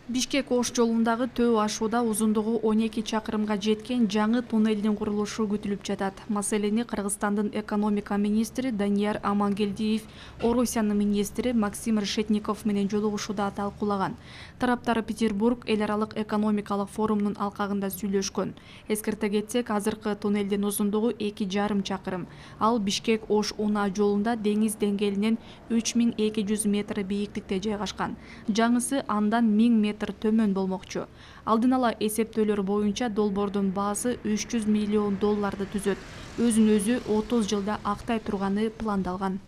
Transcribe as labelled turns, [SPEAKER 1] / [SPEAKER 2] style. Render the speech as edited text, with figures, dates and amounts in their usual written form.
[SPEAKER 1] Бишкек-Ош жолундагы төө ашууда узундугу 12 чакырымга жеткен жаңы туннелдин курулушу күтүлүп жатат. Маселени Кыргызстандын экономика министри Данияр Амангелдиев Орусиянын министри Максим Решетников менен жолугушууда талкуулаган. Тараптар Петербург эл аралык экономикалык форумунун алкагында сүйлөшкөн. Эскерте кетсек, азыркы туннелдин узундугу 2,5 чакырым. Ал Бишкек-Ош унаа жолунда деңиз деңгээлинен 3200 метр бийиктикте жайгашкан. Жаңысы андан 1000 метр төмөн болмокчу. Алдын ала эсептөөлөр боюнча долбоордун баасы $300 миллион түзөт. Өзүн өзү 30 жылда актай турганы пландалган.